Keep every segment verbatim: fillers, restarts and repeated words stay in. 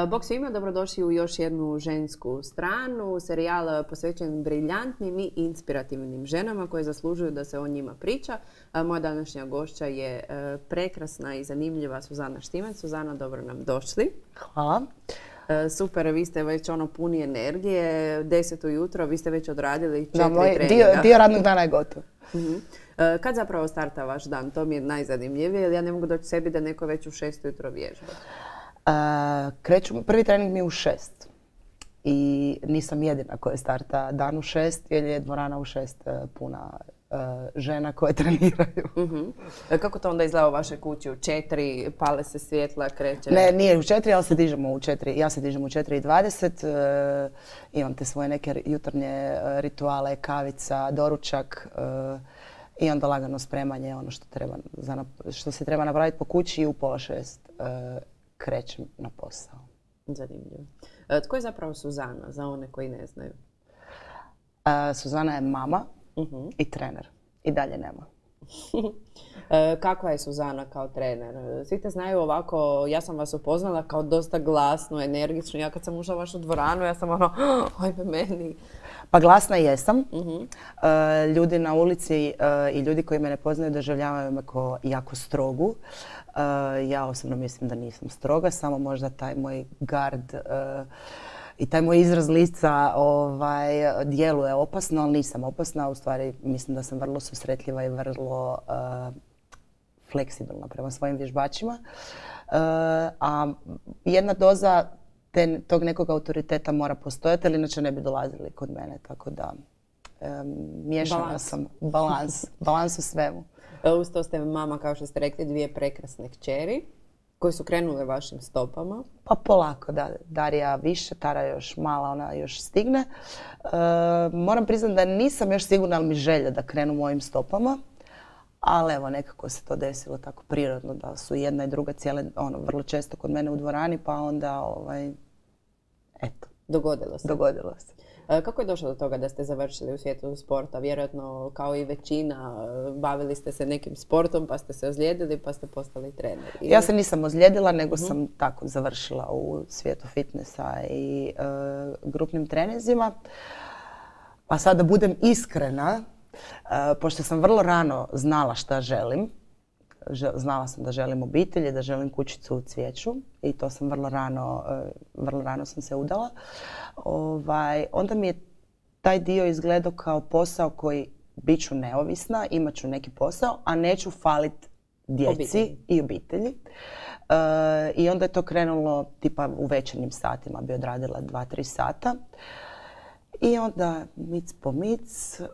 Bog svima, dobrodošli u još jednu žensku stranu, serijal posvećen briljantnim i inspirativnim ženama koje zaslužuju da se o njima priča. Moja današnja gošća je prekrasna i zanimljiva Suzana Štimac. Suzana, dobro nam došli. Hvala. Super, vi ste već ono puni energije, deset ujutro, vi ste već odradili četiri da, moj treninga. Dio, dio radnog dana je gotov. Uh-huh. Kad zapravo starta vaš dan? To mi je najzanimljivije, jer ja ne mogu doći sebi da neko već u šest ujutro vježba. Uh, kreću, prvi trening mi je u šest. I nisam jedina koja starta dan u šest, jer je dvorana u šest uh, puna uh, žena koje treniraju. Uh-huh. Kako to onda izgleda u vašoj kući? U četiri, pale se svjetla, kreće? Ne, nije u četiri, ali se dižemo u četiri. Ja se dižem u četiri i dvadeset. Uh, imam te svoje neke jutarnje uh, rituale, kavica, doručak. Uh, I onda lagano spremanje, ono što, treba, za, što se treba napraviti po kući i u pola šest uh, krećem na posao. Zanimljivo. E, tko je zapravo Suzana, za one koji ne znaju? Uh, Suzana je mama uh-huh. i trener. I dalje nema. e, kakva je Suzana kao trener? Svi te znaju ovako, ja sam vas upoznala kao dosta glasnu, energičnu. Ja kad sam ušla u vašu dvoranu, ja sam ono, ojme meni. Pa glasna jesam. Uh-huh. Uh, ljudi na ulici uh, i ljudi koji me ne poznaju doživljavaju me kao jako strogu. Uh, ja osobno mislim da nisam stroga, samo možda taj moj gard uh, i taj moj izraz lica ovaj, djeluje opasno, ali nisam opasna. U stvari mislim da sam vrlo susretljiva i vrlo uh, fleksibilna prema svojim vježbačima. Uh, a jedna doza Te, tog nekog autoriteta mora postojati, ali inače ne bi dolazili kod mene, tako da um, miješana balans. sam. Balans. Balans u svemu. Uz to ste mama, kao što ste rekli, dvije prekrasne kćeri koje su krenule vašim stopama. Pa polako, da. Darija više, Tara još mala, ona još stigne. Uh, moram priznati da nisam još sigurna, ali mi želja da krenu mojim stopama. Ali evo, nekako se to desilo tako prirodno da su jedna i druga cijele, ono, vrlo često kod mene u dvorani, pa onda, ovaj, eto. Dogodilo se. Dogodilo se. E, kako je došlo do toga da ste završili u svijetu sporta? Vjerojatno, kao i većina, bavili ste se nekim sportom, pa ste se ozlijedili, pa ste postali trener. Ili? Ja se nisam ozlijedila, nego uh-huh. sam tako završila u svijetu fitnessa i e, grupnim trenizima. Pa sad da budem iskrena, Uh, pošto sam vrlo rano znala šta želim, znala sam da želim obitelj, da želim kućicu u cvijeću i to sam vrlo rano, uh, vrlo rano sam se udala. Ovaj, onda mi je taj dio izgledao kao posao koji bit ću neovisna, imat ću neki posao, a neću falit djeci obitelji. i obitelji. Uh, I onda je to krenulo tipa u večernjim satima, bi odradila dva, tri sata. I onda mic po mic, uh,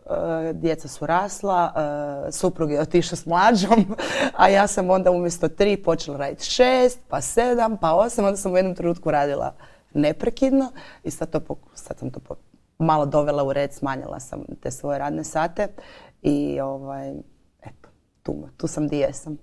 djeca su rasla, uh, suprug je otišao s mlađom, a ja sam onda umjesto tri počela raditi šest, pa sedam, pa osam, onda sam u jednom trenutku radila neprekidno i sad, to, sad sam to malo dovela u red, smanjila sam te svoje radne sate i ovaj, eto, tu, tu sam di jesam.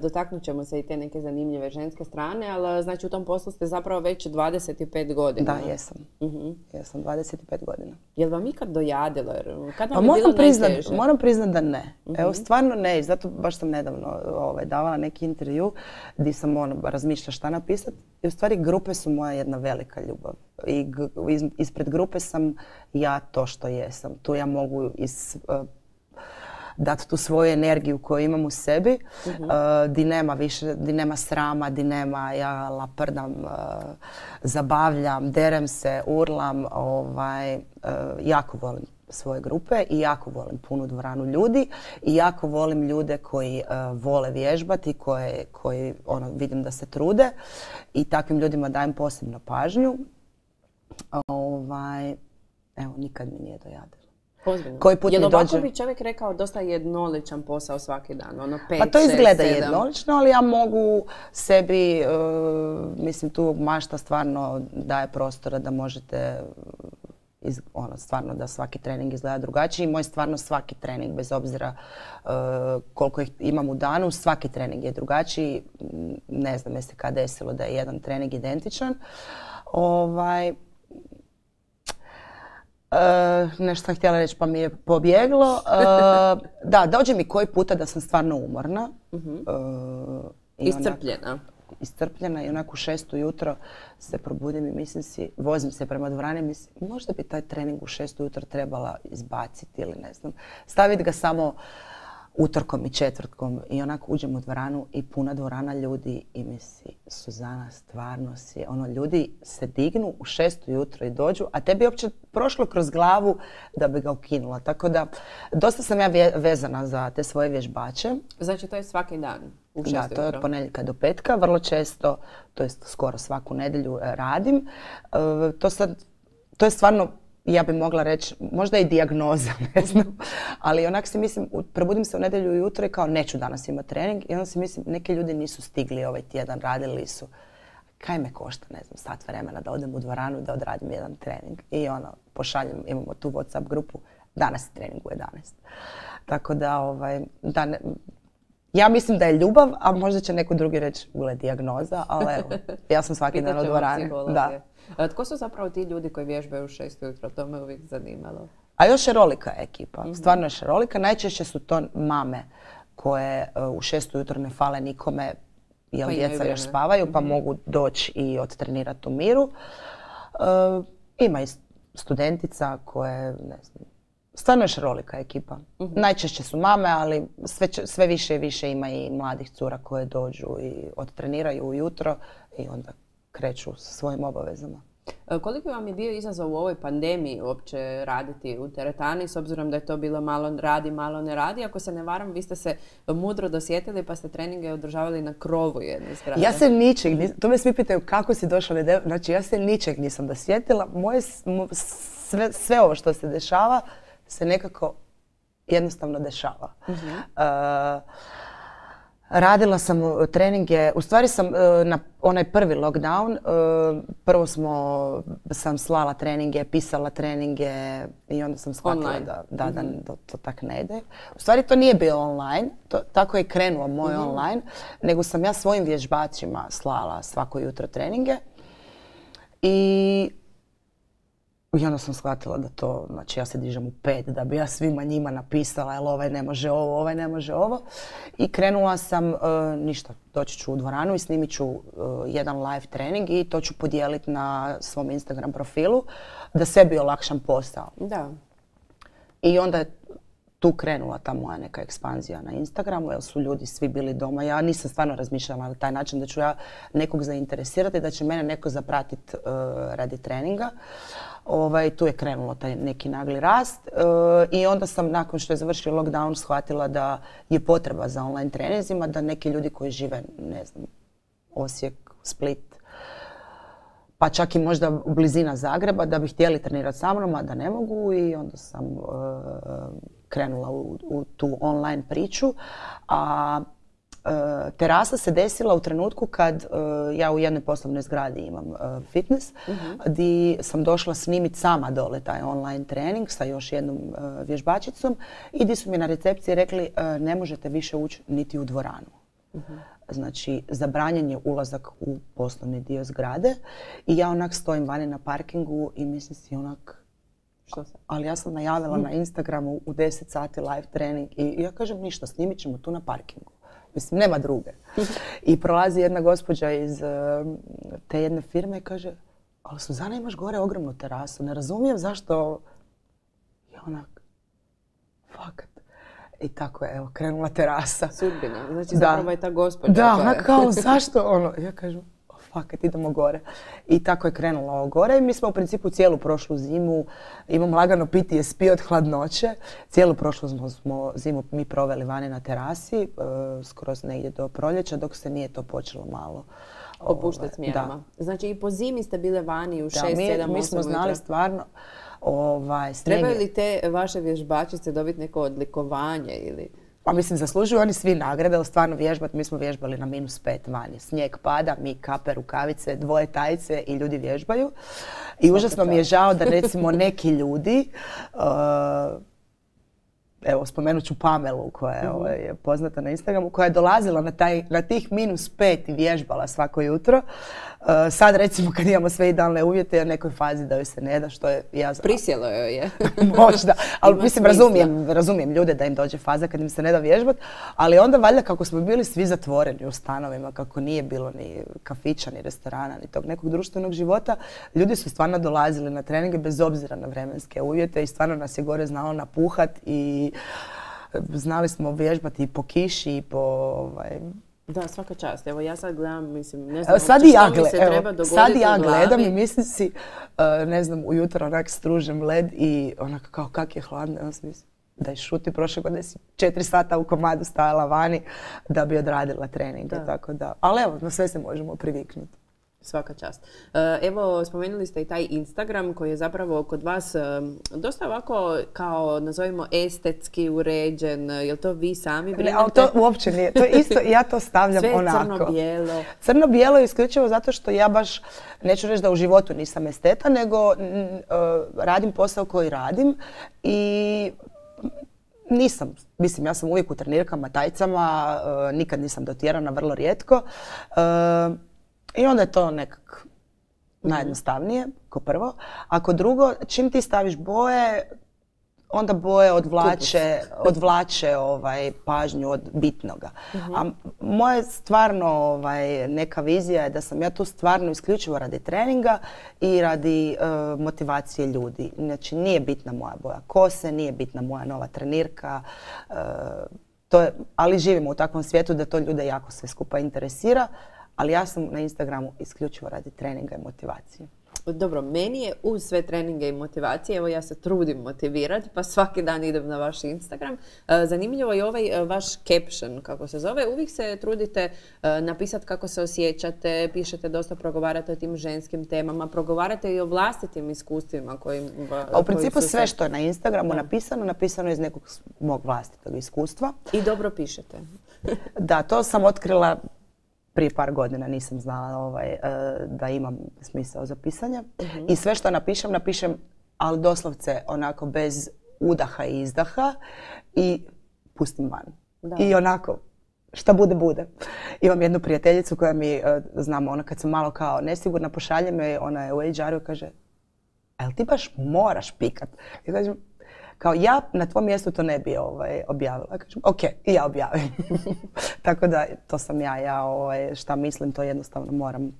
Dotaknut ćemo se i te neke zanimljive ženske strane, ali znači u tom poslu ste zapravo već dvadeset pet godina. Da, jesam. Uh-huh. Jesam dvadeset pet godina. Je li vam ikad dojadilo? Kad vam pa je bilo priznat, najteže? Moram priznat da ne. Uh-huh. Evo, stvarno ne. Zato baš sam nedavno ovaj, davala neki intervju gdje sam ono, razmišljala šta napisati. I u stvari grupe su moja jedna velika ljubav. I g- iz, ispred grupe sam ja to što jesam. Tu ja mogu iz... Uh, dati tu svoju energiju koju imam u sebi, uh-huh. uh, di nema više, di nema srama, di nema ja laprdam, uh, zabavljam, derem se, urlam, ovaj, uh, jako volim svoje grupe i jako volim punu dvoranu ljudi i jako volim ljude koji uh, vole vježbati, koje, koji ono, vidim da se trude i takvim ljudima dajem posebnu pažnju. Ovaj, evo, nikad mi nije dojadilo. Ozbiljno. Koji put Jel mi ovako dođe... bi čovjek rekao dosta jednoličan posao svaki dan? Ono pet, pa to izgleda šest, jednolično, ali ja mogu sebi, uh, mislim tu mašta stvarno daje prostora da možete, iz, ono, stvarno da svaki trening izgleda drugačiji. I moj stvarno svaki trening, bez obzira uh, koliko ih imam u danu, svaki trening je drugačiji. Ne znam jeste kad desilo da je jedan trening identičan. Ovaj, Uh, nešto sam htjela reći pa mi je pobjeglo. Uh, da, dođe mi koji puta da sam stvarno umorna. Uh-huh. Uh, Iscrpljena. Onak, iscrpljena i onako u šest ujutro se probudim i mislim si, vozim se prema dvorani i mislim, možda bi taj trening u šest ujutro trebala izbaciti ili ne znam. Staviti ga samo utorkom i četvrtkom i onako uđem u dvoranu i puna dvorana ljudi i misli, Suzana, stvarno si, ono, ljudi se dignu u šest ujutro i dođu, a tebi je uopće prošlo kroz glavu da bi ga ukinula. Tako da, dosta sam ja vezana za te svoje vježbače. Znači, to je svaki dan? U šest Da, to je od ponedjeljka do petka, vrlo često, to jest skoro svaku nedjelju radim. E, to sad, to je stvarno, ja bi mogla reći, možda i dijagnoza, ne znam, ali onak si mislim, probudim se u nedjelju ujutro i kao neću danas imati trening i onda si mislim, neki ljudi nisu stigli ovaj tjedan, radili su. Kaj me košta, ne znam, sat vremena da odem u dvoranu i da odradim jedan trening. I ono, pošaljem, imamo tu WhatsApp grupu, danas je trening u jedanaest. Tako da, ovaj, da ne, ja mislim da je ljubav, a možda će neko drugi reći ule dijagnoza, ali evo, ja sam svaki dan u dvorani. Da. Tko su zapravo ti ljudi koji vježbaju u šest ujutro? To me uvijek zanimalo. A još šarolika je ekipa. Mm-hmm. Stvarno je šarolika. Najčešće su to mame koje uh, u šest ujutro ne fale nikome jer pa djeca još spavaju pa mm-hmm. mogu doći i odtrenirati u miru. Uh, ima i studentica koje, ne znam, stvarno je šarolika ekipa. Mm-hmm. Najčešće su mame, ali sve, sve više i više ima i mladih cura koje dođu i odtreniraju ujutro i onda kreću sa svojim obavezama. Koliko vam je bio izazov u ovoj pandemiji uopće raditi u teretani, s obzirom da je to bilo malo radi, malo ne radi? Ako se ne varam, vi ste se mudro dosjetili pa ste treninge održavali na krovu jedne zgrade. Ja se ničeg, to me svi pitaju kako si došla, znači ja se ničeg nisam dosjetila. Moje, sve, sve ovo što se dešava se nekako jednostavno dešava. Uh-huh. uh, Radila sam treninge, u stvari sam na onaj prvi lockdown, prvo smo, sam slala treninge, pisala treninge i onda sam shvatila da, da, da, da to tak ne ide. U stvari to nije bilo online, to, tako je krenuo moj mm-hmm. online, nego sam ja svojim vježbačima slala svako jutro treninge i I onda sam shvatila da to, znači ja se dižem u pet da bi ja svima njima napisala jel ovaj ne može ovo, ovaj ne može ovo. I krenula sam, uh, ništa, doći ću u dvoranu i snimit ću uh, jedan live trening i to ću podijeliti na svom Instagram profilu da sebi olakšam posao. Da. I onda je tu krenula ta moja neka ekspanzija na Instagramu jer su ljudi svi bili doma. Ja nisam stvarno razmišljala na taj način da ću ja nekog zainteresirati, da će mene neko zapratiti uh, radi treninga. Ovaj, tu je krenulo taj neki nagli rast uh, i onda sam nakon što je završio lockdown shvatila da je potreba za online treninzima, da neki ljudi koji žive, ne znam, Osijek, Split, pa čak i možda u blizina Zagreba, da bi htjeli trenirati sa mnom, a da ne mogu i onda sam uh, krenula u, u tu online priču. A Uh, terasa se desila u trenutku kad uh, ja u jednoj poslovnoj zgradi imam uh, fitness, uh-huh. gdje sam došla snimiti sama dole taj online trening sa još jednom uh, vježbačicom i gdje su mi na recepciji rekli uh, ne možete više ući niti u dvoranu. Uh-huh. Znači, zabranjen je ulazak u poslovni dio zgrade i ja onak stojim vani na parkingu i mislim si onak, što sam? Ali ja sam najavila uh-huh. na Instagramu u deset sati live trening i ja kažem ništa, snimit ćemo tu na parkingu. Mislim, nema druge. I prolazi jedna gospođa iz uh, te jedne firme i kaže, ali Suzana imaš gore ogromnu terasu, ne razumijem zašto... I onak, fakat. I tako je, evo, krenula terasa. Sudbina, znači zapravo je ta gospođa. Da, ona kao, zašto ono? Ja kažem, oh, fakat, idemo gore. I tako je krenulo ovo gore i mi smo u principu cijelu prošlu zimu, imam lagano P T S P od hladnoće, cijelu prošlu smo, smo zimu mi proveli vani na terasi, uh, skroz negdje do proljeća, dok se nije to počelo malo opuštati s mjerama. Znači i po zimi ste bile vani u šest, sedam, osam mi smo znali ujutro. Stvarno, ovaj, trebaju li te vaše vježbačice dobiti neko odlikovanje ili... Pa mislim, zaslužuju oni svi nagrade, ali stvarno vježbati, mi smo vježbali na minus pet vani. Snijeg pada, mi kape, rukavice, dvoje tajice i ljudi vježbaju. I užasno mi je žao da recimo neki ljudi uh, evo spomenut ću Pamelu koja je, mm-hmm. ovaj, poznata na Instagramu, koja je dolazila na, taj, na tih minus pet i vježbala svako jutro. Uh, sad recimo kad imamo sve idealne uvjete, je u nekoj fazi da joj se ne da, što je ja znam. Prisjelo joj je. Možda, ali mislim razumijem, razumijem ljude da im dođe faza kad im se ne da vježbat, ali onda valjda kako smo bili svi zatvoreni u stanovima, kako nije bilo ni kafića, ni restorana, ni tog nekog društvenog života, ljudi su stvarno dolazili na treninge bez obzira na vremenske uvjete i stvarno nas je gore znalo napuhat i znali smo vježbati i po kiši i po ovaj, da, svaka čast. Evo ja sad gledam, mislim, ne znam sad što ja mi se evo, treba dogoditi sad ja u glavi. gledam i mislim si, uh, ne znam, ujutro onak stružem led i onako kao kak je hladno, ja sam mislim da je šuti, prošle godine si četiri sata u komadu stajala vani da bi odradila treninge, tako da. Ali evo, na sve se možemo priviknuti. Svaka čast. Evo, spomenuli ste i taj Instagram koji je zapravo kod vas dosta ovako kao, nazovimo, estetski uređen. Je li to vi sami brinete? Ne, ali to uopće nije. To je isto, ja to stavljam sve onako. Sve crno-bijelo. Crno-bijelo je isključivo zato što ja baš, neću reći da u životu nisam esteta, nego uh, radim posao koji radim i nisam, mislim, ja sam uvijek u trenirkama, tajcama, uh, nikad nisam dotjerana, vrlo rijetko. Uh, I onda je to nekak najjednostavnije, ko prvo. A ko drugo, čim ti staviš boje, onda boje odvlače, odvlače ovaj, pažnju od bitnoga. Uh-huh. A moja stvarno ovaj, neka vizija je da sam ja tu stvarno isključivo radi treninga i radi uh, motivacije ljudi. Znači nije bitna moja boja kose, nije bitna moja nova trenirka, uh, to je, ali živimo u takvom svijetu da to ljude jako sve skupa interesira. Ali ja sam na Instagramu isključivo radi treninga i motivacije. Dobro, meni je uz sve treninge i motivacije, evo ja se trudim motivirati, pa svaki dan idem na vaš Instagram. Zanimljivo je ovaj vaš caption, kako se zove. Uvijek se trudite napisati kako se osjećate, pišete dosta, progovarate o tim ženskim temama, progovarate i o vlastitim iskustvima kojim... A u principu sve što je na Instagramu da. napisano, napisano je iz nekog mog vlastitog iskustva. I dobro pišete. Da, to sam otkrila prije par godina, nisam znala ovaj, da imam smisao za pisanje. Uh-huh. I sve što napišem, napišem, ali doslovce onako bez udaha i izdaha i pustim van. Da. I onako, šta bude, bude. Imam jednu prijateljicu koja mi, znamo, ona kad sam malo kao nesigurna, pošalje me, ona je u H R-u i kaže, a jel ti baš moraš pikat? I kažem, kao ja na tvom mjestu to ne bi ovaj, objavila. Kažem, ok, i ja objavim. Tako da to sam ja, ja ovaj, šta mislim, to jednostavno moram uh,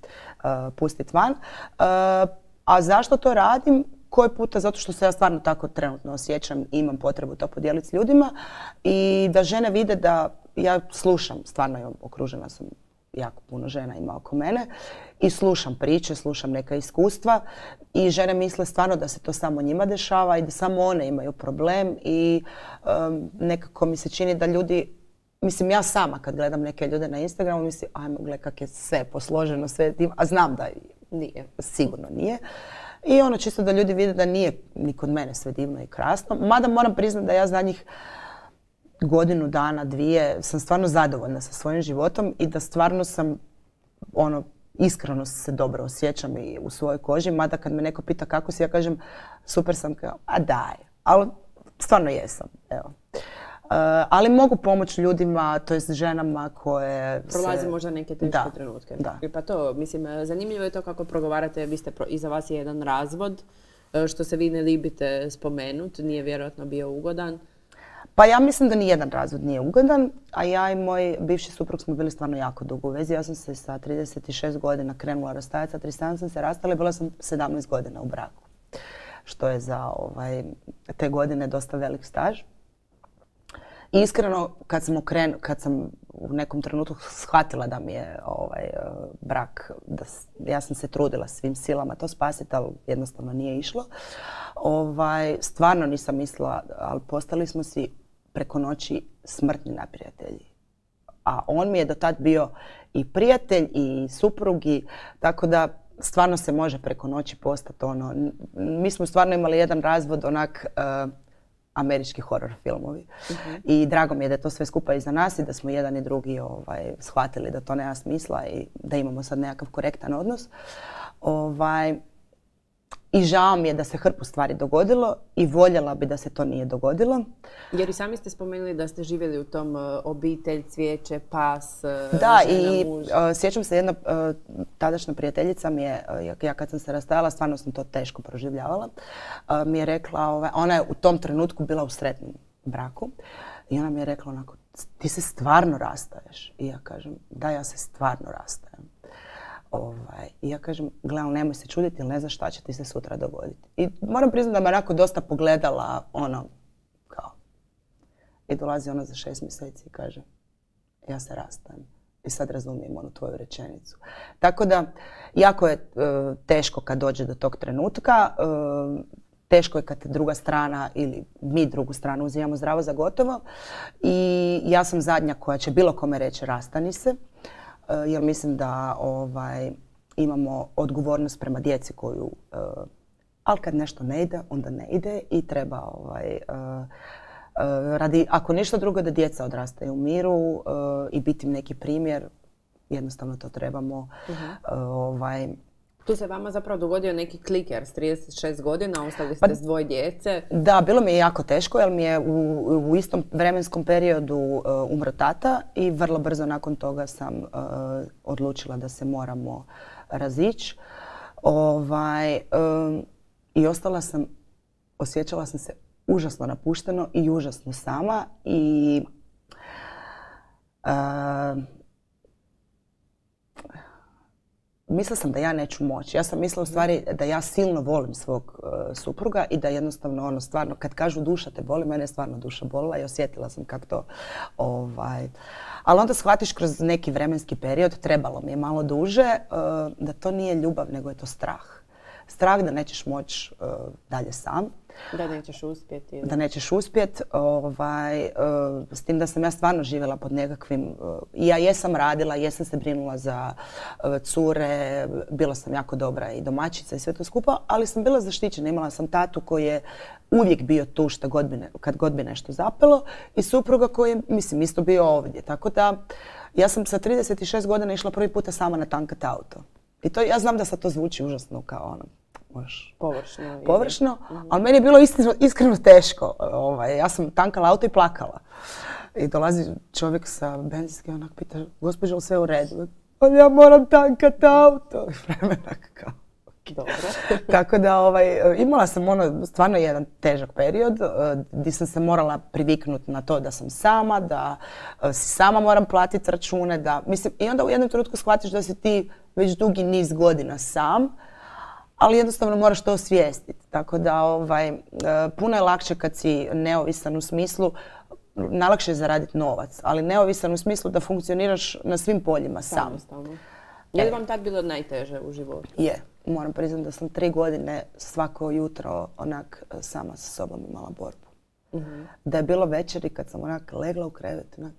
pustiti van. Uh, a zašto to radim? Koji puta? Zato što se ja stvarno tako trenutno osjećam i imam potrebu to podijeliti s ljudima i da žene vide da ja slušam, stvarno imam, okružena sam jako puno žena ima oko mene i slušam priče, slušam neka iskustva i žene misle stvarno da se to samo njima dešava i da samo one imaju problem i um, nekako mi se čini da ljudi, mislim ja sama kad gledam neke ljude na Instagramu mislim ajmo gledaj kak je sve posloženo, sve divno, a znam da nije, sigurno nije. I ono čisto da ljudi vide da nije ni kod mene sve divno i krasno, mada moram priznati da ja zadnjih godinu dana, dvije, sam stvarno zadovoljna sa svojim životom i da stvarno sam, ono, iskreno se dobro osjećam i u svojoj koži, mada kad me neko pita kako si, ja kažem super sam, kao, a daj, ali stvarno jesam, evo. Uh, ali mogu pomoći ljudima, to jest ženama koje prolaze se... možda neke teške da, trenutke. Da. Pa to, mislim, zanimljivo je to kako progovarate, vi ste, pro, iza vas je jedan razvod, što se vi ne libite spomenuti, nije vjerojatno bio ugodan. Pa ja mislim da ni jedan razvod nije ugodan, a ja i moj bivši suprug smo bili stvarno jako dugo u vezi. Ja sam se sa trideset šest godina krenula rastajati, sa trideset sedam sam se rastala i bila sam sedamnaest godina u braku. Što je za ovaj, te godine dosta velik staž. I iskreno, kad sam, okren, kad sam u nekom trenutku shvatila da mi je ovaj, brak, da ja sam se trudila svim silama to spasiti, ali jednostavno nije išlo. Ovaj, stvarno nisam mislila, ali postali smo si preko noći smrtni neprijatelji. A on mi je do tad bio i prijatelj i suprug, i, tako da stvarno se može preko noći postati ono. Mi smo stvarno imali jedan razvod onak uh, američki horor filmovi. Uh-huh. I drago mi je da je to sve skupa iza nas i da smo jedan i drugi ovaj, shvatili da to nema smisla i da imamo sad nekakav korektan odnos. Ovaj, i žao mi je da se hrpu stvari dogodilo i voljela bi da se to nije dogodilo. Jer i sami ste spomenuli da ste živjeli u tom uh, obitelj, cvijeće, pas, uh, da, žena, i muž. Uh, sjećam se jedna uh, tadašnja prijateljica mi je, uh, ja kad sam se rastajala, stvarno sam to teško proživljavala, uh, mi je rekla, ovaj, ona je u tom trenutku bila u sretnom braku i ona mi je rekla onako, ti se stvarno rastaješ? I ja kažem, da, ja se stvarno rastajem. Ovaj, I ja kažem, gledam, nemoj se čuditi ili ne znaš šta će ti se sutra dogoditi. I moram priznati da me onako dosta pogledala, ono, kao. I dolazi ona za šest mjeseci i kaže, ja se rastajem. I sad razumijem onu tvoju rečenicu. Tako da, jako je uh, teško kad dođe do tog trenutka. Uh, teško je kad druga strana ili mi drugu stranu uzimamo zdravo za gotovo. I ja sam zadnja koja će bilo kome reći rastani se. Jer mislim da ovaj, imamo odgovornost prema djeci koju, uh, ali kad nešto ne ide, onda ne ide i treba ovaj, uh, uh, radi, ako ništa drugo, da djeca odrastaju u miru uh, i biti im neki primjer, jednostavno to trebamo. Uh-huh. uh, ovaj, Tu se vama zapravo dogodio neki kliker s trideset šest godina, ostali ste pa, s dvoje djece. Da, bilo mi je jako teško jer mi je u, u istom vremenskom periodu uh, umro tata i vrlo brzo nakon toga sam uh, odlučila da se moramo razići. Ovaj, um, I ostala sam, osjećala sam se užasno napušteno i užasno sama i uh, mislila sam da ja neću moći. Ja sam mislila u stvari da ja silno volim svog uh, supruga i da jednostavno ono stvarno kad kažu duša te boli, mene je stvarno duša bolila i osjetila sam kako to ovaj. Ali onda shvatiš kroz neki vremenski period, trebalo mi je malo duže, uh, da to nije ljubav nego je to strah. Strah da nećeš moći uh, dalje sam. Da nećeš uspjeti. Da nećeš uspjeti. Ovaj, uh, s tim da sam ja stvarno živjela pod nekakvim... Uh, ja jesam radila, jesam se brinula za uh, cure, bila sam jako dobra i domaćica i sve to skupa, ali sam bila zaštićena. Imala sam tatu koji je uvijek bio tu što god bi ne, kad god bi nešto zapelo i supruga koji je, mislim, isto bio ovdje. Tako da ja sam sa trideset šest godina išla prvi puta sama na tankat auto. I to, ja znam da sad to zvuči užasno kao ono, možeš, površno, površno mm-hmm. ali meni je bilo iskreno, iskreno teško. Ovaj, ja sam tankala auto i plakala. I dolazi čovjek sa benzinske i onak pita, gospođo, li sve u redu? Ali ja moram tankat auto. I vremenak kao. Dobro. Tako da ovaj, imala sam ono stvarno jedan težak period uh, gdje sam se morala priviknuti na to da sam sama, da uh, si sama moram platiti račune, da, mislim, i onda u jednom trenutku shvatiš da si ti već dugi niz godina sam, ali jednostavno moraš to osvijestiti. Tako da ovaj, uh, puno je lakše kad si neovisan u smislu, najlakše je zaraditi novac, ali neovisan u smislu da funkcioniraš na svim poljima sam. Samostalno. Je li vam tad bilo najteže u životu? Je. Moram priznati da sam tri godine svako jutro onak sama sa sobom imala borbu. Mm-hmm. Da je bilo večeri kad sam onak legla u krevet, onak,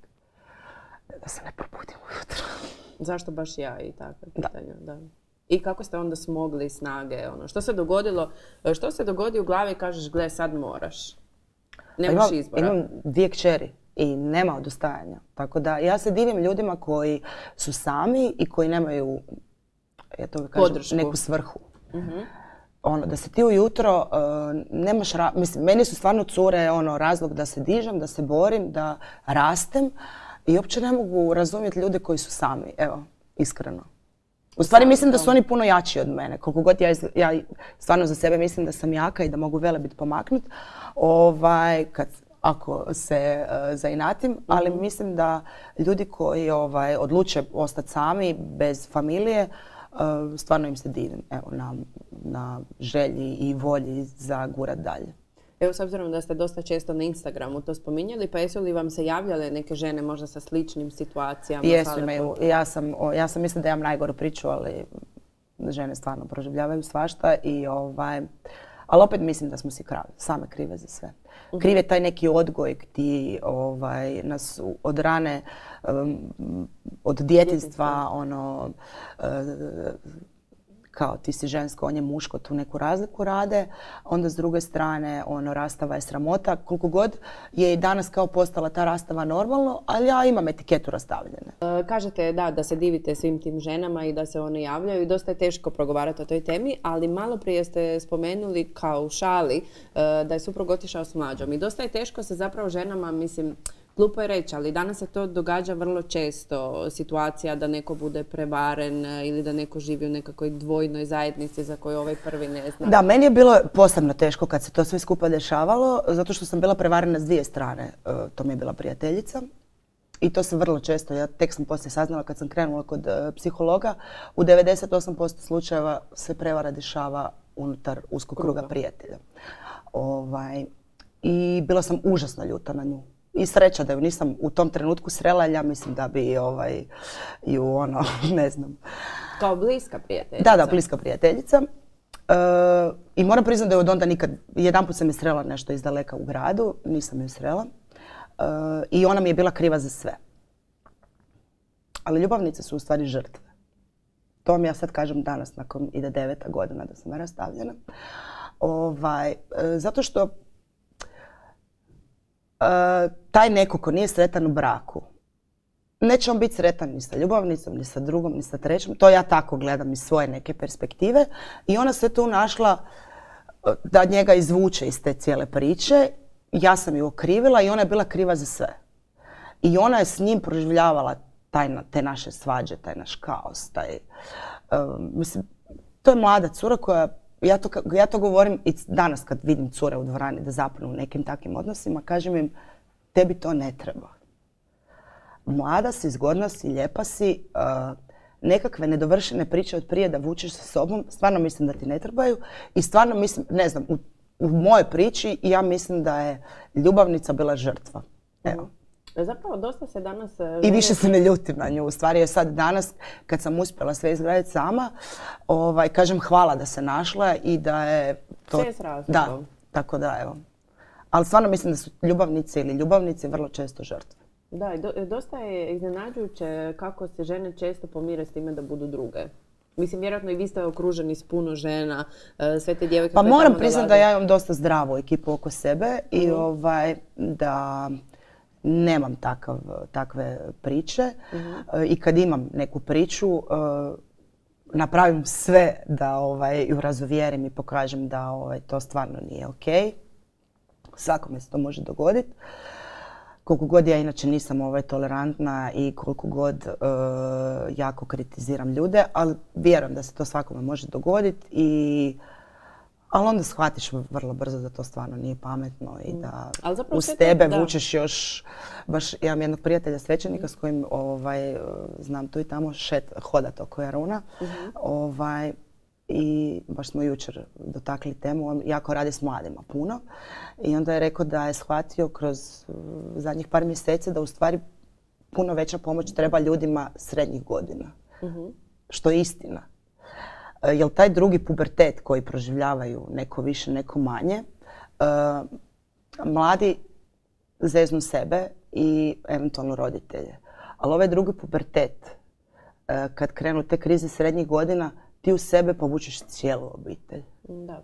da se ne probudim ujutro. Zašto baš ja i takve pitanja? Da. Da. I kako ste onda smogli snage? Ono, što se dogodilo? Što se dogodi u glavi i kažeš, gle, sad moraš? Nemaš imam, izbora. Imam dvije kćeri i nema odustajanja. Tako da ja se divim ljudima koji su sami i koji nemaju, ja to kažem, podršku, neku svrhu. Mm-hmm. Ono, da se ti ujutro uh, nemaš, ra- mislim, meni su stvarno cure ono, razlog da se dižem, da se borim, da rastem i uopće ne mogu razumjeti ljude koji su sami, evo, iskreno. U stvari mislim da su oni puno jači od mene, koliko god ja, ja stvarno za sebe mislim da sam jaka i da mogu velebit pomaknut, ovaj, kad, ako se uh, zainatim, mm-hmm. ali mislim da ljudi koji ovaj, odluče ostati sami, bez familije, uh, stvarno im se divim, evo, na, na želji i volji za gurat dalje. Evo, s obzirom da ste dosta često na Instagramu to spominjali, pa jesu li vam se javljale neke žene možda sa sličnim situacijama? Jesu, imaju. Ja sam, ja sam mislim da imam najgoru priču, ali žene stvarno proživljavaju svašta i ovaj, ali opet mislim da smo si kravi, same krive za sve. Uh-huh. Kriv je taj neki odgoj gdje ovaj, nas od rane, um, od djetinjstva, ono, uh, kao ti si žensko, on je muško, tu neku razliku rade. Onda s druge strane, ono, rastava je sramota. Koliko god je i danas kao postala ta rastava normalno, ali ja imam etiketu rastavljene. E, kažete da, da se divite svim tim ženama i da se one javljaju i dosta je teško progovarati o toj temi, ali malo prije ste spomenuli kao u šali e, da je suprug otišao s mlađom i dosta je teško se zapravo ženama, mislim, glupo je reći, ali danas se to događa vrlo često, situacija da neko bude prevaren ili da neko živi u nekakvoj dvojnoj zajednici za koju ovaj prvi ne zna. Da, meni je bilo posebno teško kad se to sve skupa dešavalo, zato što sam bila prevarena s dvije strane. To mi je bila prijateljica i to se vrlo često, ja tek sam poslije saznala kad sam krenula kod psihologa, u devedeset osam posto slučajeva se prevara dešava unutar uskog kruga prijatelja. Ovaj, I bila sam užasno ljuta na nju. I sreća da ju nisam u tom trenutku srela, ja mislim da bi ovaj, ju ono, ne znam. Kao bliska prijateljica? Da, da, bliska prijateljica. E, I moram priznati da je od onda nikad, jedanput sam je srela nešto iz daleka u gradu, nisam ju srela. E, I ona mi je bila kriva za sve. Ali ljubavnice su u stvari žrtve. To vam ja sad kažem danas, nakon ide deveta godina da sam rastavljena. Ovaj, e, zato što Uh, taj neko ko nije sretan u braku, neće on biti sretan ni sa ljubavnicom, ni sa drugom, ni sa trećom. To ja tako gledam iz svoje neke perspektive. I ona se tu našla da njega izvuče iz te cijele priče. Ja sam ju okrivila i ona je bila kriva za sve. I ona je s njim proživljavala taj, te naše svađe, taj naš kaos. Taj, uh, mislim, to je mlada cura koja... Ja to, ja to govorim i danas kad vidim cure u dvorani da zapnu u nekim takvim odnosima, kažem im, tebi to ne treba. Mlada si, zgodna si, lijepa si, uh, nekakve nedovršene priče od prije da vučeš sa sobom, stvarno mislim da ti ne trebaju i stvarno mislim, ne znam, u, u mojoj priči ja mislim da je ljubavnica bila žrtva. Evo. Zapravo dosta se danas... I više se ne ljutim na nju. U stvari je sad danas, kad sam uspjela sve izgraditi sama, ovaj, kažem hvala da se našla i da je to... Sve s razlogom. Da, tako da evo. Ali stvarno mislim da su ljubavnice ili ljubavnici vrlo često žrtve. Da, i do, dosta je iznenađujuće kako se žene često pomire s time da budu druge. Mislim, vjerojatno i vi ste okruženi s puno žena, sve te djevojke... Pa moram priznati da ja imam dosta zdravu ekipu oko sebe mm. i ovaj, da... Nemam takav, takve priče uh-huh. I kad imam neku priču uh, napravim sve da ovaj, ju razuvjerim i pokažem da ovaj, to stvarno nije ok. Svakome se to može dogoditi. Koliko god ja inače nisam ovaj, tolerantna i koliko god uh, jako kritiziram ljude, ali vjerujem da se to svakome može dogoditi i ali onda shvatiš vrlo brzo da to stvarno nije pametno i da uz tebe to, vučeš još, baš imam jednog prijatelja svećenika s kojim ovaj, znam tu i tamo šet, hodat oko Jaruna uh-huh. ovaj, i baš smo jučer dotakli temu, on jako radi s mladima puno i onda je rekao da je shvatio kroz zadnjih par mjeseci da u stvari puno veća pomoć treba ljudima srednjih godina, uh-huh. što je istina. Jer taj drugi pubertet koji proživljavaju neko više, neko manje, uh, mladi zeznu sebe i eventualno roditelje. Ali ovaj drugi pubertet, uh, kad krenu te krize srednjih godina, ti u sebe povučeš cijelu obitelj. Da.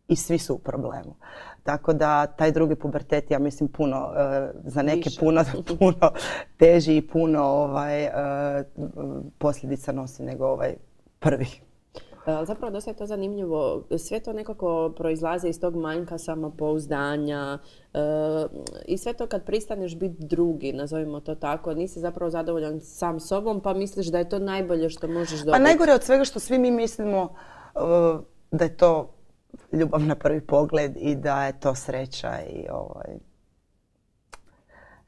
I svi su u problemu. Tako da taj drugi pubertet, ja mislim, puno, uh, za neke puno, puno teži i puno ovaj, uh, posljedica nosi nego ovaj prvi. Zapravo dosta je to zanimljivo. Sve to nekako proizlazi iz tog manjka samopouzdanja e, i sve to kad pristaneš biti drugi, nazovimo to tako, nisi zapravo zadovoljan sam sobom pa misliš da je to najbolje što možeš dobiti. Pa najgore od svega što svi mi mislimo uh, da je to ljubav na prvi pogled i da je to sreća i ovaj...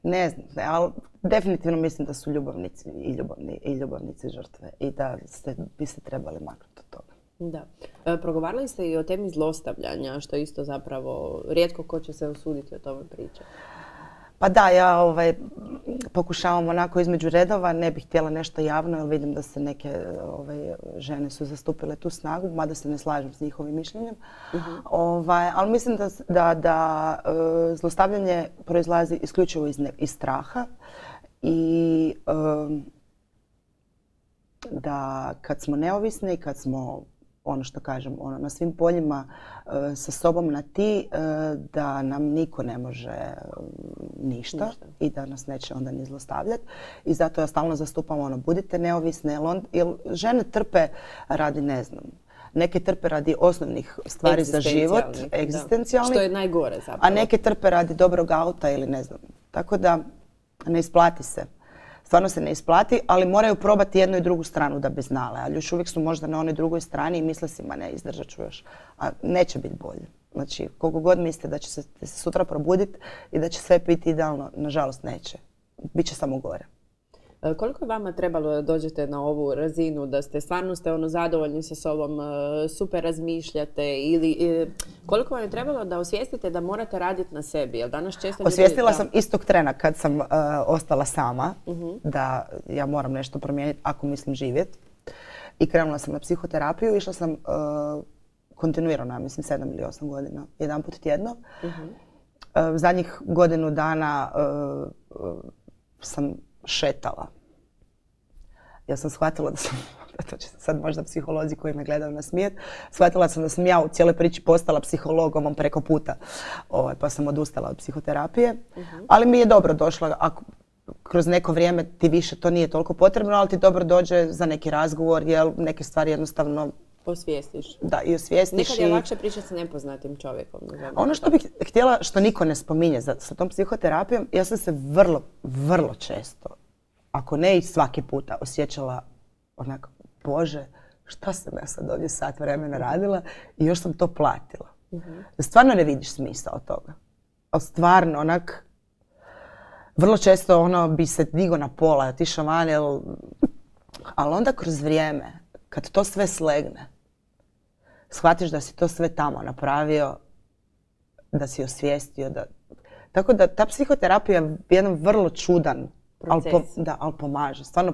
Ne znam, ali definitivno mislim da su ljubavnici i, ljubavni, i ljubavnici žrtve i da ste, bi se trebali maknuti od toga. Da. E, progovarali ste i o temi zlostavljanja, što isto zapravo rijetko ko će se usuditi o tome pričati. Pa da, ja ovaj, pokušavam onako između redova, ne bih htjela nešto javno jer vidim da se neke ovaj, žene su zastupile tu snagu, mada se ne slažem s njihovim mišljenjem. Uh-huh. Ovaj, ali mislim da, da, da uh, zlostavljanje proizlazi isključivo iz, ne, iz straha i um, da kad smo neovisni, kad smo ono što kažem, ono, na svim poljima e, sa sobom na ti e, da nam niko ne može e, ništa, ništa i da nas neće onda ni zlostavljati. I zato ja stalno zastupam ono, budite neovisne, jer, on, jer žene trpe radi, ne znam, neke trpe radi osnovnih stvari za život, egzistencijalnih, što je najgore zapravo. A neke trpe radi dobrog auta ili ne znam. Tako da ne isplati se. Stvarno se ne isplati, ali moraju probati jednu i drugu stranu da bi znale. Ali još uvijek su možda na onoj drugoj strani i misle si, ma ne, izdržat ću još. A neće biti bolje. Znači, koliko god mislite da će se, se sutra probuditi i da će sve biti idealno, nažalost neće. Biće samo gore. Koliko je vama trebalo da dođete na ovu razinu, da ste stvarno ste ono zadovoljni sa sobom, super razmišljate ili koliko vam je trebalo da osvijestite da morate raditi na sebi? Jer danas često ljudi, osvijestila da... sam istog trena kad sam uh, ostala sama, uh-huh. da ja moram nešto promijeniti ako mislim živjeti. I krenula sam na psihoterapiju, išla sam uh, kontinuirano, ja mislim sedam ili osam godina, jedan put tjedno. Uh-huh. Uh, zadnjih godinu dana uh, uh, sam šetala. Ja sam shvatila da sam, to će sad možda psiholozi koji me gledaju nasmijeti, shvatila sam da sam ja u cijeloj priči postala psihologom preko puta, ovaj, pa sam odustala od psihoterapije. Uh-huh. Ali mi je dobro došla, ako kroz neko vrijeme ti više to nije toliko potrebno, ali ti dobro dođe za neki razgovor, jer neke stvari jednostavno osvijestiš. Da, i osvijestiš. Nekad je i... lakše pričati sa nepoznatim čovjekom. Ono što bih htjela, što niko ne spominje za, sa tom psihoterapijom, ja sam se vrlo, vrlo često, ako ne i svaki puta, osjećala onako, Bože, šta sam ja sad ovdje sat vremena radila i još sam to platila. Uh-huh. Stvarno ne vidiš smisao toga. Ali stvarno, onak, vrlo često ono bi se digo na pola, otišao van, jel... ali onda kroz vrijeme, kad to sve slegne, shvatiš da si to sve tamo napravio, da si osvijestio. Da... Tako da ta psihoterapija je jedan vrlo čudan, ali, po, da, ali pomaže. Stvarno,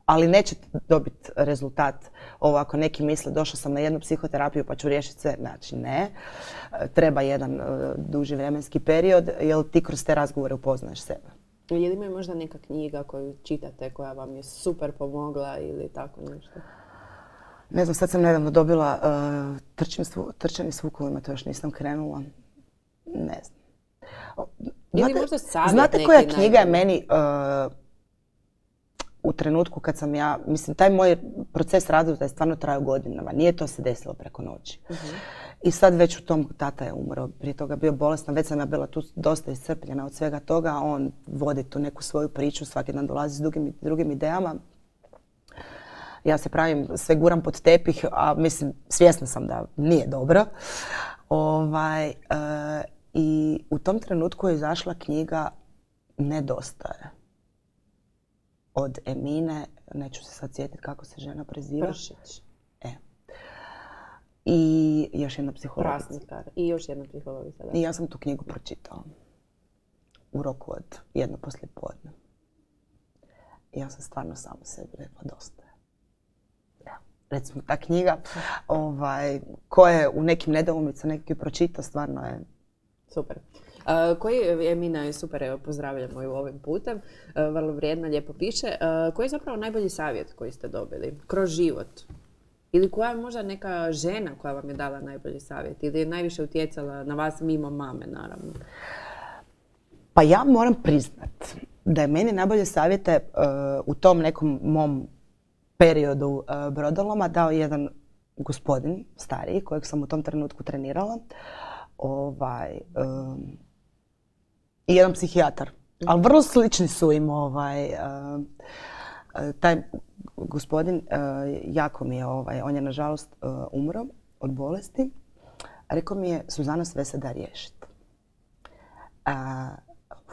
ali neće dobiti rezultat. Ovo ako neki misle, došla sam na jednu psihoterapiju pa ću riješiti sve. Znači ne. Treba jedan uh, duži vremenski period, jer ti kroz te razgovore upoznaješ sebe. Je li ima možda neka knjiga koju čitate koja vam je super pomogla ili tako nešto? Ne znam, sad sam nedavno dobila uh, trčanje, svu, trčanje s vukovima, to još nisam krenula. Ne znam. Ili možda savjet znate koja knjiga je meni uh, u trenutku kad sam ja, mislim, taj moj proces razvoja je stvarno trajao godinama, nije to se desilo preko noći. Uh-huh. I sad već u tom, tata je umro, prije toga bio bolestan, već sam ja bila tu dosta iscrpljena od svega toga, on vodi tu neku svoju priču, svaki dan dolazi s drugim, drugim idejama. Ja se pravim, sve guram pod tepih, a mislim, svjesna sam da nije dobro. Ovaj, uh, I u tom trenutku je izašla knjiga Nedostaje. Od Emine, neću se sad sjetiti kako se žena preziva. Pršić. E. I još jedna psihologica. Prasnikar. I još jedna psihologica. Da. I ja sam tu knjigu pročitala. U roku od jedno poslijepodne. I ja sam stvarno samo sebi rekla dosta je. Recimo ta knjiga, ovaj, ko je u nekim nedoumicama neki pročita, stvarno je super. Uh, koji, Emina je super, evo pozdravljamo ju ovim putem, uh, vrlo vrijedna, lijepo piše. Uh, koji je zapravo najbolji savjet koji ste dobili kroz život? Ili koja je možda neka žena koja vam je dala najbolji savjet? Ili je najviše utjecala na vas mimo mame, naravno? Pa ja moram priznat da je meni najbolje savjete uh, u tom nekom mom periodu uh, brodoloma dao jedan gospodin, stariji, kojeg sam u tom trenutku trenirala. Ovaj, um, i jedan psihijatar. Ali vrlo slični su im. Ovaj, uh, taj gospodin uh, jako mi je, ovaj, on je nažalost uh, umro od bolesti. Rekao mi je, Suzana, sve se da riješiti. Uh,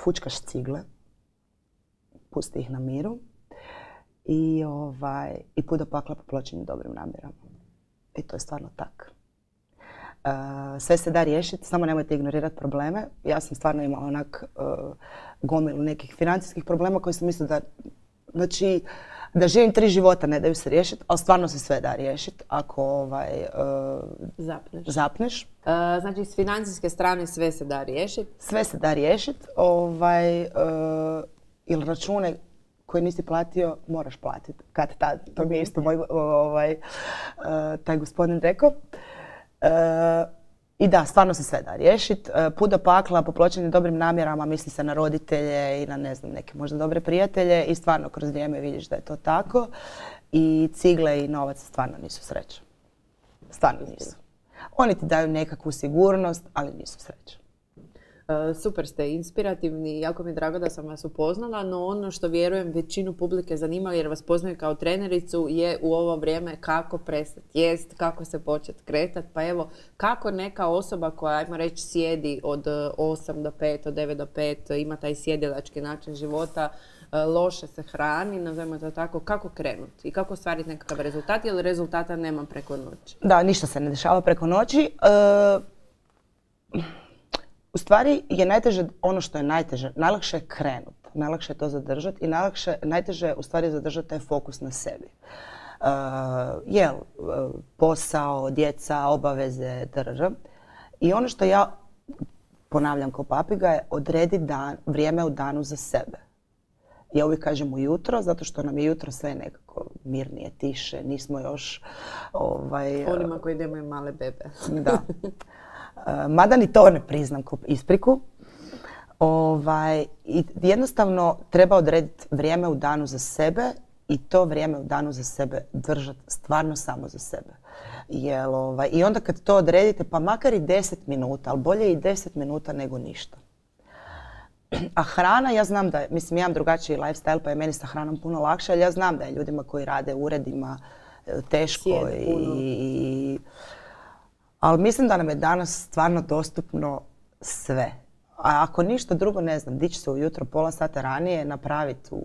fučkaš cigle, pusti ih na miru i, ovaj, i put do pakla popločeni dobrim namjerama. I to je stvarno tak. Uh, sve se da riješiti, samo nemojte ignorirati probleme. Ja sam stvarno imala onak uh, gomilu nekih financijskih problema koji sam mislila da, znači, da živim tri života, ne daju se riješiti, ali stvarno se sve da riješiti ako ovaj, uh, zapneš. zapneš. Uh, znači, s financijske strane sve se da riješiti? Sve se da riješiti. Ovaj, uh, ili račune koji nisi platio, moraš platiti. Kad tad, to mi je isto moj ovaj, uh, taj gospodin rekao. Uh, I da, stvarno se sve da riješiti. Uh, put do pakla, popločeni dobrim namjerama, misli se na roditelje i na ne znam, neke možda dobre prijatelje i stvarno kroz vrijeme vidiš da je to tako. I cigle i novac stvarno nisu sreća. Stvarno nisu. Oni ti daju nekakvu sigurnost, ali nisu sreća. Uh, super ste, inspirativni, jako mi je drago da sam vas upoznala, no ono što vjerujem većinu publike zanima jer vas poznaju kao trenericu je u ovo vrijeme kako prestati jest, kako se početi kretati. Pa evo, kako neka osoba koja, ajmo reći, sjedi od osam do pet, od devet do pet, ima taj sjedilački način života, loše se hrani, nazovimo to tako, kako krenuti i kako ostvariti nekakav rezultat, jer rezultata nema preko noći? Da, ništa se ne dešava preko noći. Uh... U stvari je najteže, ono što je najteže, najlakše je krenuti, najlakše je to zadržati i najlakše, najteže je u stvari zadržati taj fokus na sebi. Uh, jel, uh, posao, djeca, obaveze, drž. I ono što ja ponavljam kao papiga je odredi dan, vrijeme u danu za sebe. Ja uvijek kažem ujutro, zato što nam je jutro sve nekako mirnije, tiše, nismo još... Ovaj, onima koji nemaju male bebe. Da. Mada ni to ne priznam kao ispriku. Ovaj, i jednostavno treba odrediti vrijeme u danu za sebe i to vrijeme u danu za sebe držati stvarno samo za sebe. Jel, ovaj, i onda kad to odredite, pa makar i deset minuta, ali bolje i deset minuta nego ništa. A hrana, ja znam da je, mislim, ja imam drugačiji lifestyle, pa je meni sa hranom puno lakše, ali ja znam da je ljudima koji rade u uredima teško i, i ali mislim da nam je danas stvarno dostupno sve. A ako ništa drugo, ne znam, dići se ujutro pola sata ranije, napraviti u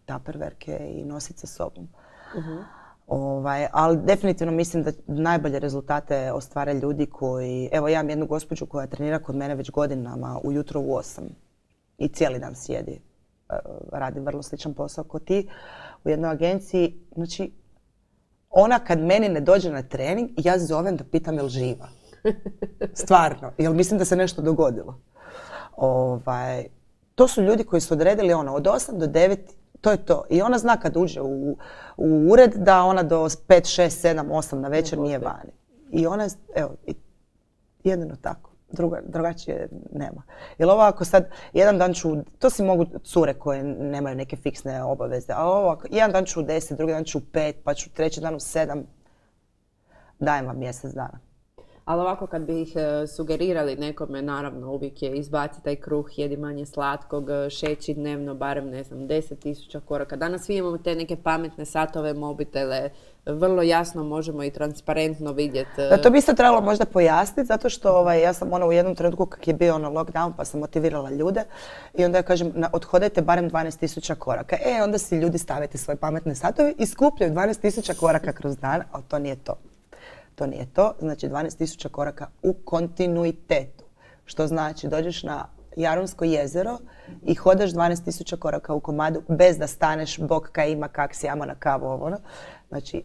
taperverke i nositi sa sobom. Uh-huh. Ovaj, ali definitivno mislim da najbolje rezultate ostvare ljudi koji... Evo, ja imam jednu gospođu koja trenira kod mene već godinama ujutro u osam i cijeli dan sjedi. Radi vrlo sličan posao kao ti u jednoj agenciji. Znači, ona kad meni ne dođe na trening, ja zovem da pitam je li živa. Stvarno, jer mislim da se nešto dogodilo. Ovaj, to su ljudi koji su odredili ono, od osam do devet, to je to. I ona zna kad uđe u, u ured da ona do pet, šest, sedam, osam na večer nije vani. I ona je, evo, jedino tako. Druga, drugačije nema. Jer ovo ako sad, jedan dan ću, to si mogu cure koje nemaju neke fiksne obaveze, ali ovo ako, jedan dan ću u deset, drugi dan ću u pet, pa ću treći dan u sedam, dajem vam mjesec dana. Ali ovako kad bi ih sugerirali nekome, naravno uvijek je izbaci taj kruh, jedi manje slatkog, šeći dnevno barem, ne znam, deset tisuća koraka. Danas svi imamo te neke pametne satove, mobitele, vrlo jasno možemo i transparentno vidjeti. Da, to bi isto trebalo možda pojasniti, zato što ovaj, ja sam ono u jednom trenutku kak je bio ono lockdown pa sam motivirala ljude i onda ja kažem na, odhodajte barem dvanaest tisuća koraka. E, onda si ljudi stavite svoje pametne satove i skupljaju dvanaest tisuća koraka kroz dan, ali to nije to. To nije to, znači dvanaest tisuća koraka u kontinuitetu. Što znači dođeš na Jarunsko jezero i hodaš dvanaest tisuća koraka u komadu bez da staneš, bok kaj ima, kak si, ajmo na kavu, ovo. Znači,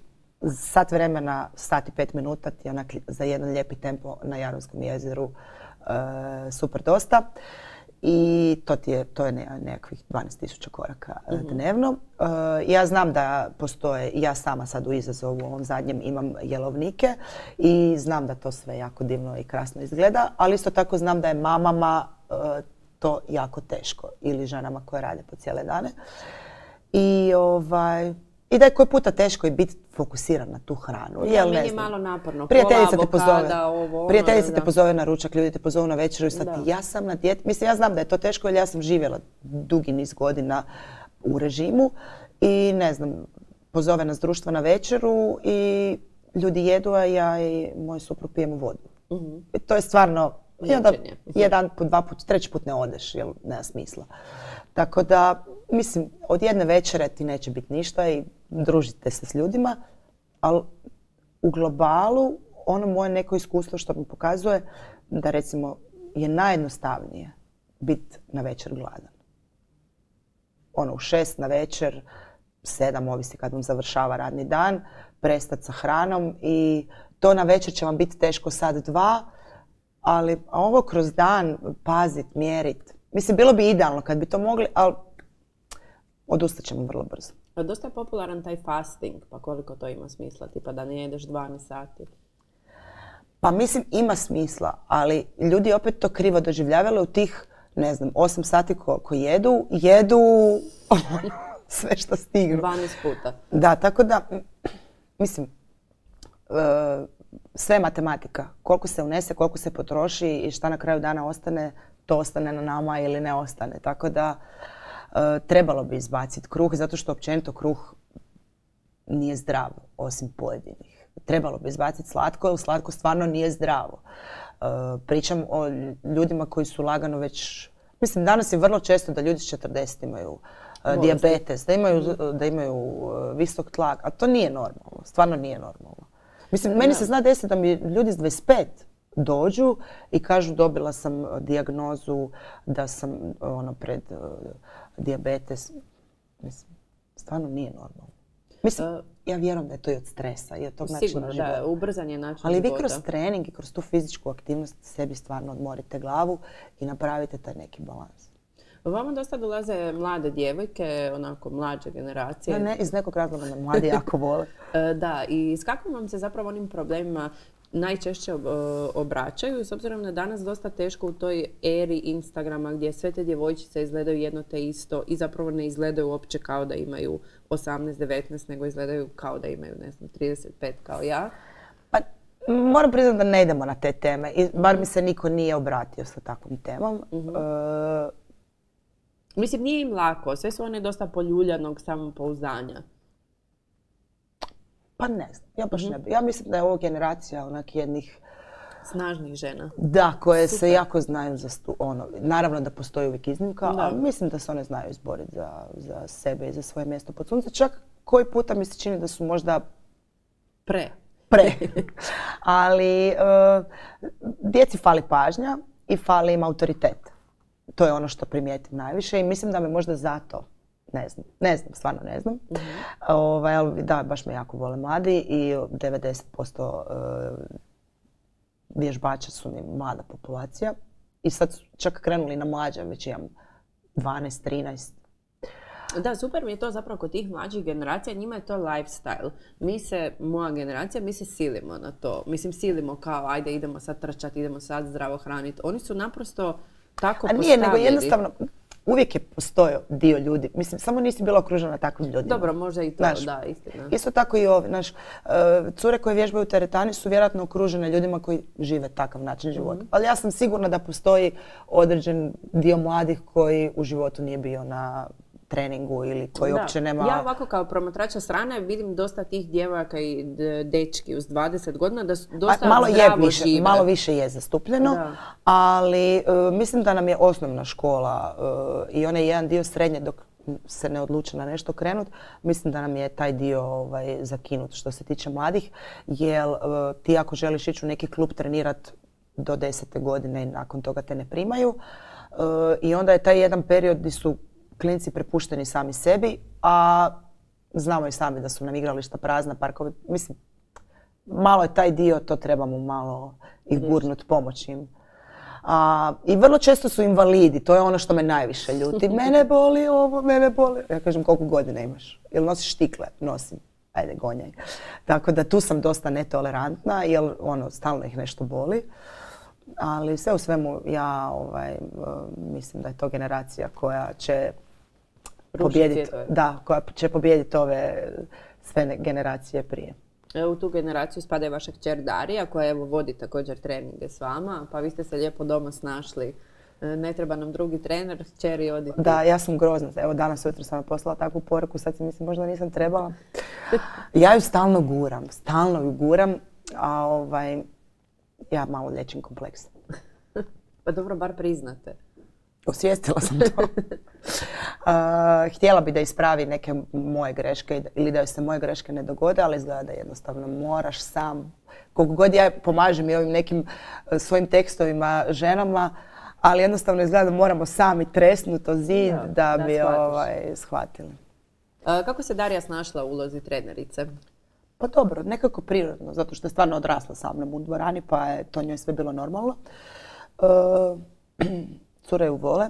sat vremena, sat i pet minuta ti onak za jedan lijepi tempo na Jarunskom jezeru e, super dosta. I to, ti je, to je nekakvih dvanaest tisuća koraka mm-hmm. dnevno. Uh, ja znam da postoje, ja sama sad u izazovu u ovom zadnjem imam jelovnike i znam da to sve jako divno i krasno izgleda, ali isto tako znam da je mamama uh, to jako teško ili ženama koje rade po cijele dane. I ovaj... I da je koji puta teško i biti fokusiran na tu hranu. Jel, meni je malo naporno. Prijateljica te pozove, pozove, ovo, prijateljica ono, te pozove na ručak, ljudi te pozovu na večeru i sad ja sam na dijeti. Mislim, ja znam da je to teško jer ja sam živjela dugi niz godina u režimu i ne znam, pozove nas društvo na večeru i ljudi jedu, a ja i moj suprug pijemo vodu. Uh-huh. I to je stvarno, i onda jedan put, dva put, treći put ne odeš, jer nema smisla. Tako da, mislim, od jedne večere ti neće biti ništa i družite se s ljudima, ali u globalu ono moje neko iskustvo što mi pokazuje da recimo je najjednostavnije biti na večer gladan. Ono u šest na večer, sedam, ovisi kad vam završava radni dan, prestati sa hranom i to na večer će vam biti teško sad dva, ali ovo kroz dan pazit, mjerit. Mislim, bilo bi idealno kad bi to mogli, ali odustat ćemo vrlo brzo. Dosta je popularan taj fasting, pa koliko to ima smisla, tipa da ne jedeš dvanaest sati? Pa mislim ima smisla, ali ljudi opet to krivo doživljavaju u tih, ne znam, osam sati ko, ko jedu, jedu sve što stignu. dvanaest puta. Da, tako da, mislim, sve je matematika. Koliko se unese, koliko se potroši i šta na kraju dana ostane, to ostane na nama ili ne ostane. Tako da, trebalo bi izbaciti kruh, zato što općenito kruh nije zdrav, osim pojedinih. Trebalo bi izbaciti slatko, jer slatko stvarno nije zdravo. Pričam o ljudima koji su lagano već... Mislim, danas je vrlo često da ljudi s četrdeset imaju dijabetes, da imaju, da imaju visok tlak, a to nije normalno, stvarno nije normalno. Mislim, meni se zna desiti da mi ljudi s dvadeset pet dođu i kažu dobila sam dijagnozu da sam ono pred uh, dijabetes. Mislim, stvarno nije normalno. Mislim, uh, ja vjerujem da je to i od stresa i od tog načina života. Da, ubrzan je način Ali života. vi kroz trening i kroz tu fizičku aktivnost sebi stvarno odmorite glavu i napravite taj neki balans. Vama dosta dolaze mlade djevojke, onako mlađe generacije. Ne, ne, iz nekog razloga me mladi jako vole. Da, i s kakvim vam se zapravo onim problemima najčešće obraćaju, s obzirom da danas dosta teško u toj eri Instagrama gdje sve te djevojčice izgledaju jedno te isto i zapravo ne izgledaju uopće kao da imaju osamnaest devetnaest, nego izgledaju kao da imaju, ne znam, trideset pet kao ja. Pa, moram priznati da ne idemo na te teme, i bar mi se niko nije obratio sa takvom temom. Uh-huh. Uh, Mislim, nije im lako, sve su one dosta poljuljanog samopouzdanja. Pa ne znam, ja baš ne bi. Ja mislim da je ovo generacija onak jednih... Snažnih žena. Da, koje Super. se jako znaju za stu, ono, naravno da postoji uvijek iznimka, da. ali mislim da se one znaju izboriti za, za sebe i za svoje mjesto pod sunce. Čak koji puta mi se čini da su možda... Pre. Pre. Ali uh, djeci fali pažnja i fali im autoritet. To je ono što primijetim najviše i mislim da me možda zato, ne znam, ne znam, stvarno ne znam. Mm-hmm. Ovaj, ali da, baš me jako vole mladi i devedeset posto vježbača su mi mlada populacija. I sad su čak krenuli na mlađe, već imam dvanaest trinaest. Da, super mi je to zapravo kod tih mlađih generacija, njima je to lifestyle. Mi se, moja generacija, mi se silimo na to. Mislim, silimo kao, ajde idemo sad trčati, idemo sad zdravo hraniti. Oni su naprosto tako postavljeni. A nije, nego jednostavno, uvijek je postojao dio ljudi. Mislim, samo nisi bila okružena takvim ljudima. Dobro, možda i to, znaš, da, istina. Isto tako i ovi, znaš, cure koje vježbaju u teretani su vjerojatno okružene ljudima koji žive takav način života. Mm-hmm. Ali ja sam sigurna da postoji određen dio mladih koji u životu nije bio na treningu ili koji da. uopće nema... Ja ovako kao promatrača strane vidim dosta tih djevojaka i dečki uz dvadeset godina da su dosta malo zdravo je više, žive. Malo više je zastupljeno, da. ali uh, mislim da nam je osnovna škola uh, i onaj jedan dio srednje dok se ne odluče na nešto krenut, mislim da nam je taj dio ovaj, zakinut što se tiče mladih, jer uh, ti ako želiš ići u neki klub trenirat do desete godine i nakon toga te ne primaju uh, i onda je taj jedan period gdje su klinci prepušteni sami sebi, a znamo i sami da su nam igrališta prazna, parkovi. Mislim, malo je taj dio, to trebamo malo ih gurnut, pomoći im. A, I vrlo često su invalidi, to je ono što me najviše ljuti. Mene boli ovo, mene boli. Ja kažem, koliko godina imaš? Jel nosiš štikle? Nosim. Ajde, gonjaj. Tako da tu sam dosta netolerantna, jer ono, stalno ih nešto boli. Ali sve u svemu ja ovaj, mislim da je to generacija koja će pobijediti, da, koja će pobijediti ove sve generacije prije. U tu generaciju spada i vaša kćer Darija koja evo vodi također treninge s vama, pa vi ste se lijepo doma snašli. Ne treba nam drugi trener, kćeri odite. Da, ja sam grozna. Evo danas ujutro sam poslala takvu poruku, sad si mislim možda nisam trebala. Ja ju stalno guram, stalno ju guram, a ovaj, ja malo liječim kompleks. Pa dobro, bar priznate. Osvijestila sam to. uh, htjela bi da ispravi neke moje greške ili da joj se moje greške ne dogode, ali izgleda da jednostavno moraš sam. Koliko god ja pomažem i ovim nekim uh, svojim tekstovima ženama, ali jednostavno izgleda da moramo sami tresnuti o zid ja, da, da bi ovaj, shvatili. Uh, kako se Darija snašla u ulozi trenerice? Pa dobro, nekako prirodno, zato što je stvarno odrasla sa mnom u dvorani, pa je to njoj sve bilo normalno. Uh, Cure ju vole.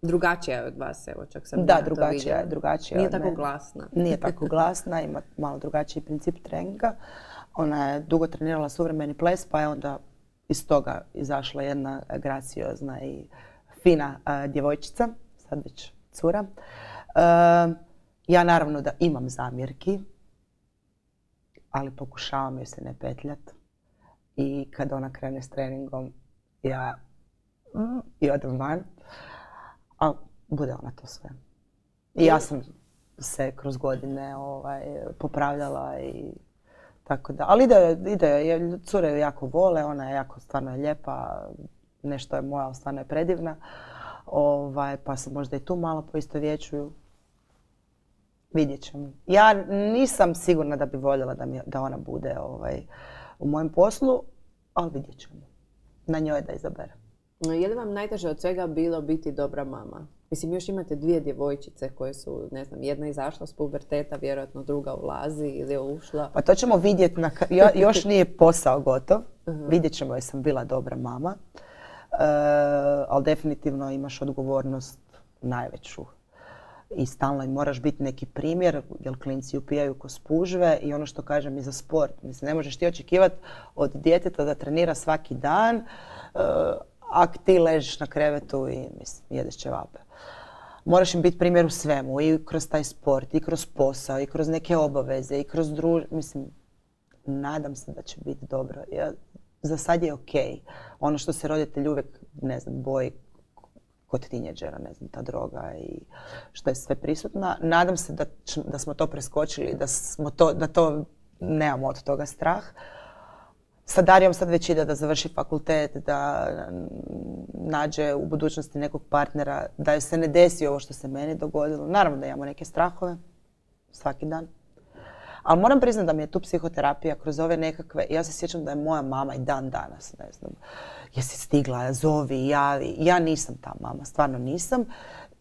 Drugačija je od vas, evo, čak sam Da, ja to drugačija je, vidjela. drugačija Nije od tako mene. glasna. Nije tako glasna, ima malo drugačiji princip treninga. Ona je dugo trenirala suvremeni ples, pa je onda iz toga izašla jedna graciozna i fina uh, djevojčica, sad već cura. Uh, ja naravno da imam zamjerki, ali pokušavam joj se ne petljat. I kad ona krene s treningom, ja mm, i odem van, a bude ona to sve. I ja sam se kroz godine ovaj, popravljala i tako da. Ali ide, ide, cure ju jako vole, ona je jako stvarno lijepa, nešto je moja, stvarno je predivna. Ovaj, pa se možda i tu malo poistovjećuju. Vidjet ćemo. Ja nisam sigurna da bi voljela da, mi, da ona bude ovaj, u mojem poslu, ali vidjet ćemo. Na njoj da izabere. Je li vam najteže od svega bilo biti dobra mama? Mislim, još imate dvije djevojčice koje su, ne znam, jedna izašla s puberteta, vjerojatno druga ulazi ili je ušla. Pa to ćemo vidjeti, na, još nije posao gotov. Uh-huh. Vidjet ćemo je sam bila dobra mama. E, ali definitivno imaš odgovornost najveću. I stalno im moraš biti neki primjer, jer klinci upijaju ko spužve i ono što kažem i za sport. Mislim, ne možeš ti očekivati od djeteta da trenira svaki dan, e, ako ti ležiš na krevetu i mislim, jedeš ćevape. Moraš im biti primjer u svemu, i kroz taj sport, i kroz posao, i kroz neke obaveze, i kroz druž... Mislim, nadam se da će biti dobro. Ja, za sad je ok. Ono što se roditelji uvijek, ne znam, boji kod tineđera, ne znam, ta droga i što je sve prisutna. Nadam se da, da smo to preskočili, da, smo to, da to nemamo od toga strah. Sa Darijom sad već ide da završi fakultet, da nađe u budućnosti nekog partnera, da joj se ne desi ovo što se meni dogodilo. Naravno da imamo neke strahove svaki dan. Ali moram priznati da mi je tu psihoterapija kroz ove nekakve, ja se sjećam da je moja mama i dan danas, ne znam, jesi stigla, zovi, javi. Ja nisam ta mama, stvarno nisam.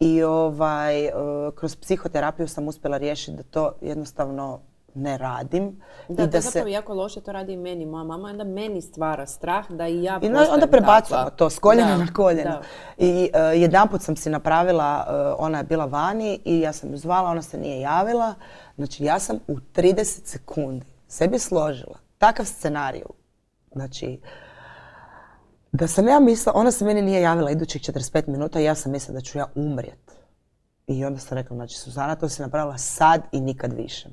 I ovaj, kroz psihoterapiju sam uspjela riješiti da to jednostavno ne radim. Da, I to da je zapravo se... jako loše, to radi i meni. Moja mama onda meni stvara strah da i ja I postajem onda prebacujemo takva. to s koljena Da, na koljeno. da. I uh, jedanput sam si napravila, uh, ona je bila vani i ja sam ju zvala, ona se nije javila. Znači ja sam u trideset sekundi sebi složila takav scenarij. Znači, da sam ja mislila, ona se meni nije javila idućih četrdeset pet minuta i ja sam mislila da ću ja umrijet. I onda sam rekla, znači Suzana, to si napravila sad i nikad više.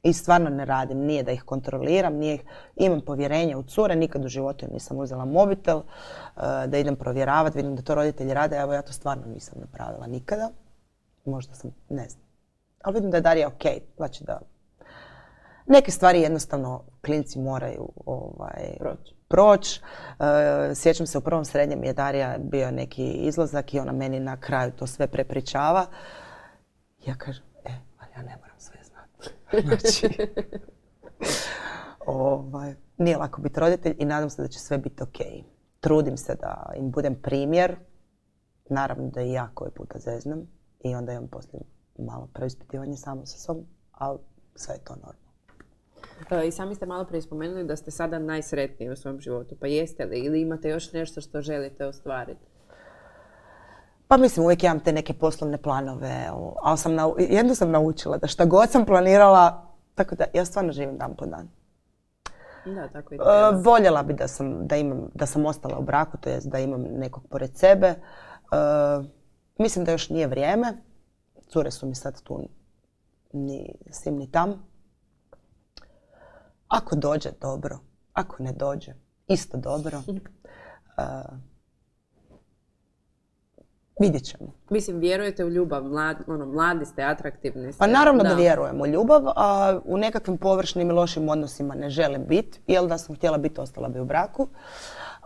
I stvarno ne radim, nije da ih kontroliram, nije ih, imam povjerenje u cure, nikad u životu nisam uzela mobitel, uh, da idem provjeravati, vidim da to roditelji rade, evo ja to stvarno nisam napravila nikada. Možda sam, ne znam. Ali vidim da je Darija ok, znači da neke stvari jednostavno klinci moraju ovaj, Proći. proć. Uh, sjećam se u prvom srednjem je Darija bio neki izlazak i ona meni na kraju to sve prepričava. Ja kažem, e, ali ja ne moram sve znati. Znači, ovaj, nije lako biti roditelj i nadam se da će sve biti ok. Trudim se da im budem primjer. Naravno da i ja koji puta zeznem i onda imam poslije malo preispitivanje samo sa sobom, ali sve je to normalno. I sami ste malo prije spomenuli da ste sada najsretniji u svom životu. Pa jeste li? Ili imate još nešto što želite ostvariti? Pa mislim, uvijek imam te neke poslovne planove, ali sam nau, jedno sam naučila da šta god sam planirala, tako da ja stvarno živim dan po dan. Da, tako i uh, treba. Voljela bi da sam, da, imam, da sam ostala u braku, to jest da imam nekog pored sebe. Uh, mislim da još nije vrijeme. Cure su mi sad tu ni sim ni tam. Ako dođe, dobro. Ako ne dođe, isto dobro. Uh, vidjet ćemo. Mislim, vjerujete u ljubav, mlad, ono, mladi ste, atraktivni ste. Pa naravno da, da vjerujem u ljubav, a u nekakvim površnim i lošim odnosima ne želim biti, jer da sam htjela biti, ostala bi u braku.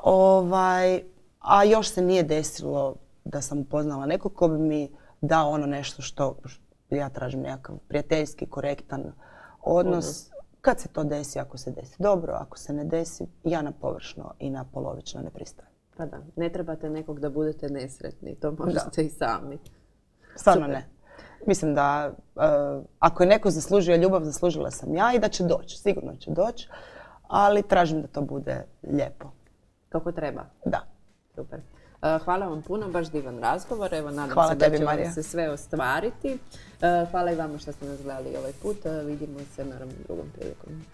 Ovaj, a još se nije desilo da sam upoznala nekog ko bi mi dao ono nešto što ja tražim, nekakav prijateljski, korektan odnos. Uh-huh. Kad se to desi, ako se desi dobro, ako se ne desi, ja na površno i na polovično ne pristajem. Pa da, ne trebate nekog da budete nesretni, to možete da. I sami. Stvarno Super. Ne. Mislim da uh, ako je neko zaslužio ljubav, zaslužila sam ja i da će doći, sigurno će doći, ali tražim da to bude lijepo. Kako treba. Da. Super. Hvala vam puno, baš divan razgovor. Evo, nadam Hvala se da tebi, će Marija. vam se sve ostvariti. Hvala i vama što ste nas gledali ovaj put. Vidimo se naravno drugom prilikom.